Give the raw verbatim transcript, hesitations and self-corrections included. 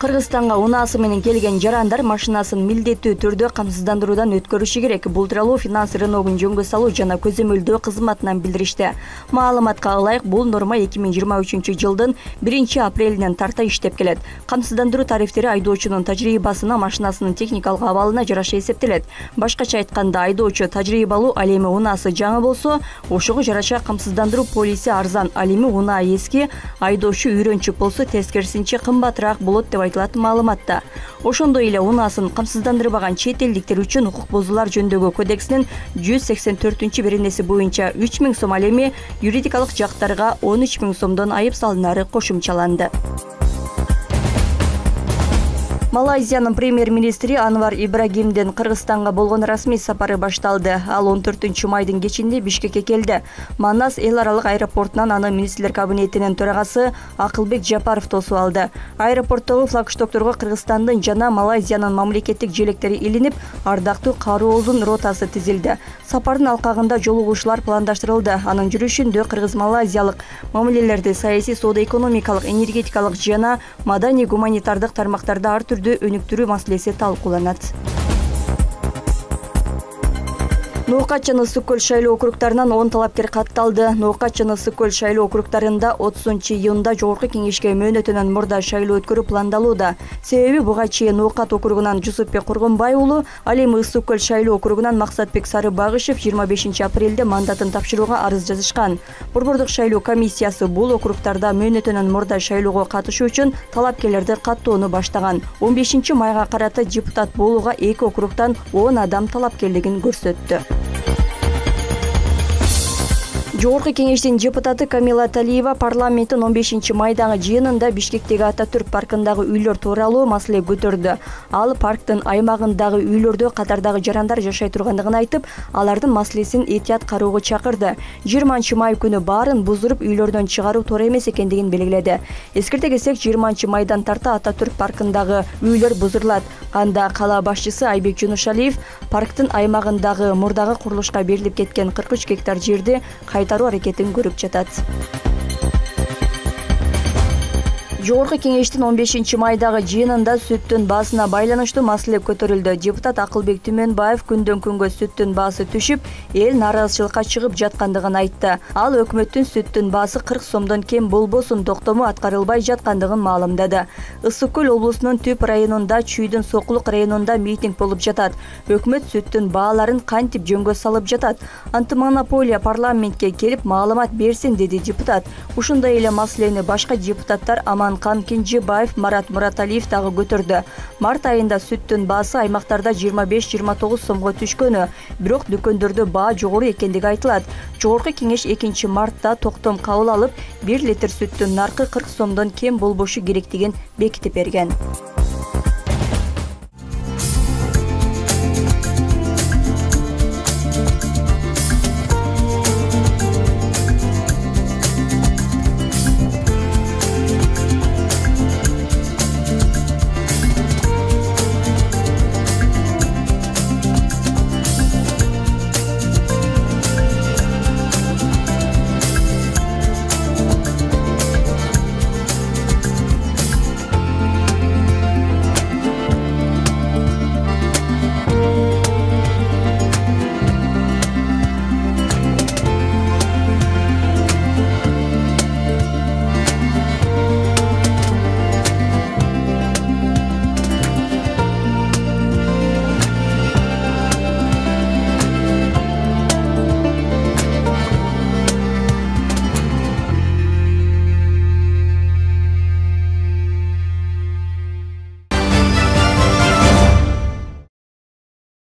Кыргызстанга унаасы менен келген жарандар машинасын милдеттүү түрдө камсыздандыруудан өткөрүшү керек. Бул тууралуу финанс рыногун жөнгө салуу жана көзөмөлдөө кызматынан билдиришти. Маалыматка ылайык, бул норма эки миң жыйырма үчүнчү жылдын биринчи апрелинен тарта иштеп келет. Камсыздандыруу тарифтери айдоочунун тажрыйбасына, машинасынын техникалык абалына жараша эсептелет. Башкача айтканда, айдоочу тажрыйбалуу, ал эми унаасы жаңы болсо, ошого жараша камсыздандыруу полиси арзан, ал эми унаа эски, айдоочу үйрөнчүк болсо тескерисинче кымбатыраак болот деп айтылат маалыматта. Ошондой эле унаасын камсыздандырбаган чет элдиктер үчүн укук бузуулар жөнүндөгү кодексинин жүз сексен төртүнчү беренеси боюнча үч миң сом, ал эми юридикалык жактарга он үч миң сомдон айып салынары кошумчаланды. Малайзиянын премьер-министри Анвар Ибрагимдин Кыргызстанга болгон расмий сапары башталды. Ал он төртүнчү майдын кечинде Бишкекке келди. Манас эл аралык аэропортунан аны министрлер кабинетинин төрагасы Акылбек Жапаров тосуп алды. Аэропорттогу флагштокторго Кыргызстандын жана Малайзиянын мамлекеттик желектери илинип, ардактуу кароолдун ротасы тизилди. Сапардын алкагында жолугушуулар пландаштырылды. Анын жүрүшүндө кыргыз-малайзиялык мамилелерди саясий, соода-экономикалык, энергетикалык жана маданий-гуманитардык тармактарда ар түрдүү өнүктүрүү маселеси талкууланат. Ноокат жана Ысык көл шайлоо округтарынан он талапкер катталды. Ноокат жана Ысык көл шайлоо округтарында отузунчу июнда Жогорку Кеңешке мөөнөтүнөн мурда шайлоо өткөрүү пландалууда. Себеби буга чейин Ноокат округунан Жусупбек Кургунбай уулу, ал эми Ысык көл шайлоо округунан Максатбек Сарыбагышев жыйырма бешинчи апрелде мандатын тапшырууга арыз жазышкан. Борбордук шайлоо комиссиясы бул округтарда мөөнөтүнөн мурда шайлоого катышуу үчүн талапкерлерди каттоону баштаган. он бешинчи майга карата депутат болууга эки округтан он адам талапкерлигин көрсөттү. Жогорку Кеңештин депутаты Камила Талиева парламенттин он бешинчи майдагы жыйынында Бишкектеги Ататүрк паркындагы үйлөр тууралуу маселе көтөрдү. Ал парктын аймагындагы үйлөрдө катардагы жарандар жашай тургандыгын айтып, алардын маселесин этият кароого чакырды. жыйырманчы май күнү баарын буздуруп үйлөрдөн чыгаруу туура эмес экендигин белгиледи. Эскерте кетсек, жыйырманчы майдан тарта Ататүрк паркындагы үйлөр бузурулат. Анда кала башчысы Айбек Жунушалиев парктын аймагындагы мурдагы курулушка берилип кеткен кырк үч гектар жерди кайтаруу аракетин көрүп жатат. Жогорку Кеңештин он бешинчи майдагы жыйынында сүттүн баасына байланыштуу маселе көтөрүлдү. Депутат Акылбек Түмөнбаев күндөн күнгө сүттүн баасы түшүп, эл нааразычылыкка чыгып жаткандыгын айтты. Ал өкмөттүн сүттүн баасы кырк сомдон кем болбосун токтому аткарылбай жаткандыгын маалымдады. Ысык көл облусунун Түп районунда, Чүйдүн Сокулук районунда митинг болуп жатат. Өкмөт сүттүн бааларын кантип жөнгө салып жатат? Антимонополия парламентке келип маалымат берсин, деди депутат. Ушундай эле маселени башка депутаттар Аман Кан Кенжебаев, Марат Мураталиев дагы көтөрдү. Март айында сүттүн баасы аймактарда жыйырма беш жыйырма тогуз сомго түшкөнү, бирок дүкөндөрдө баа жогору экендиги айтылат. Жогорку Кеңеш экинчи мартта токтом кабыл алып, бир литр сүттүн наркы кырк сомдон кем болбошу керектигин бекитип берген.